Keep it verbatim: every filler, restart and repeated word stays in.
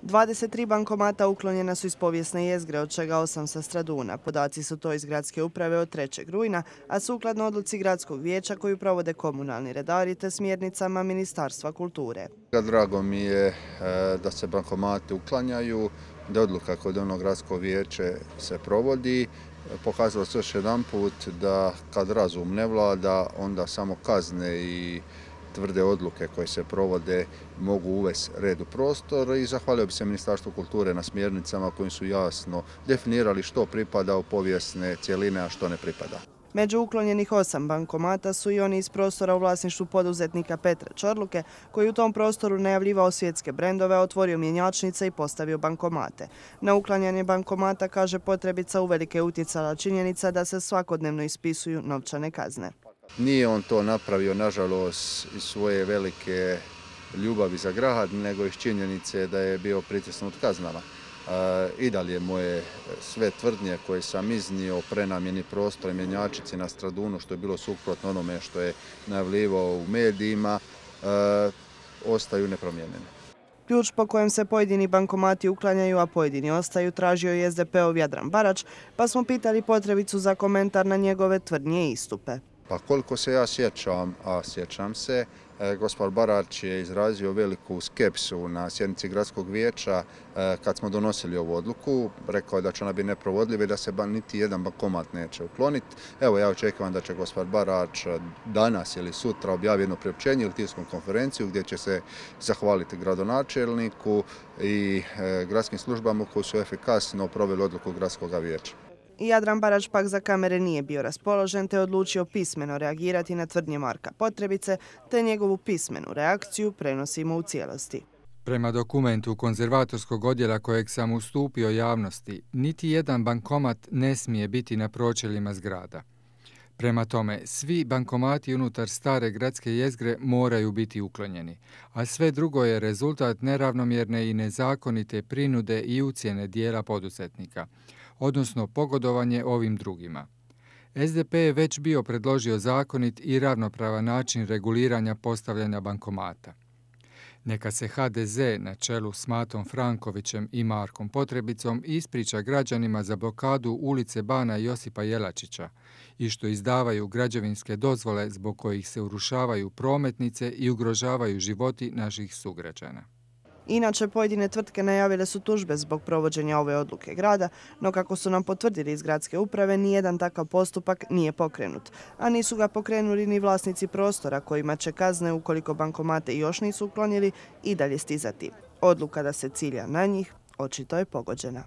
dvadeset tri bankomata uklonjena su iz povijesne jezgre, od čega osam sa Straduna. Podaci su to iz gradske uprave od trećeg rujna, a sukladno odluci gradskog vijeća koju provode komunalni redari te smjernicama Ministarstva kulture. Drago mi je da se bankomati uklanjaju, da odluka kod onog gradskog vijeće se provodi. Pokazalo se još jedan put da kad razum ne vlada, onda samo kazne i tvrde odluke koje se provode mogu uvesti red u prostor i zahvalio bi se Ministarstvu kulture na smjernicama kojim su jasno definirali što pripada u povijesne cjeline, a što ne pripada. Među uklonjenih osam bankomata su i oni iz prostora u vlasništvu poduzetnika Petra Čorluke, koji u tom prostoru najavljivao svjetske brendove, otvorio mjenjačnice i postavio bankomate. Na uklanjanje bankomata, kaže potrebica, uvelike utjecala činjenica da se svakodnevno ispisuju novčane kazne. Nije on to napravio, nažalost, iz svoje velike ljubavi za grad, nego iz činjenice da je bio pritisnut kaznama. I dalje moje sve tvrdnje koje sam iznio o prenamjeni prostora i mjenjačnici na Stradunu, što je bilo suprotno onome što je najavljivao u medijima, ostaju nepromijenjene. Ključ po kojem se pojedini bankomati uklanjaju, a pojedini ostaju, tražio je S D P-ov Jadran Barač, pa smo pitali potrebicu za komentar na njegove tvrdnje i istupe. Pa koliko se ja sjećam, a sjećam se, gospodin Barač je izrazio veliku skepsu na sjednici gradskog vijeća kad smo donosili ovu odluku. Rekao je da će ona biti neprovodljiva i da se niti jedan bankomat neće ukloniti. Evo, ja očekujem da će gospodin Barač danas ili sutra objaviti jedno priopćenje ili tiskovnu konferenciju gdje će se zahvaliti gradonačelniku i gradskim službama koji su efikasno proveli odluku gradskog vijeća. Jadran Barač pak za kamere nije bio raspoložen te odlučio pismeno reagirati na tvrdnje Marka Potrebice, te njegovu pismenu reakciju prenosimo u cijelosti. Prema dokumentu konzervatorskog odjela kojeg sam ustupio javnosti, niti jedan bankomat ne smije biti na pročeljima zgrada. Prema tome, svi bankomati unutar stare gradske jezgre moraju biti uklonjeni, a sve drugo je rezultat neravnomjerne i nezakonite prinude i ucjene dijela poduzetnika, odnosno pogodovanje ovim drugima. S D P je već bio predložio zakonit i ravnopravan način reguliranja postavljanja bankomata. Neka se H D Z na čelu s Matom Frankovićem i Markom Potrebicom ispriča građanima za blokadu ulice Bana Josipa Jelačića i što izdavaju građevinske dozvole zbog kojih se urušavaju prometnice i ugrožavaju životi naših sugrađana. Inače, pojedine tvrtke najavile su tužbe zbog provođenja ove odluke grada, no kako su nam potvrdili iz gradske uprave, nijedan takav postupak nije pokrenut, a nisu ga pokrenuli ni vlasnici prostora kojima će kazne, ukoliko bankomate još nisu uklonili, i dalje stizati. Odluka da se cilja na njih očito je pogođena.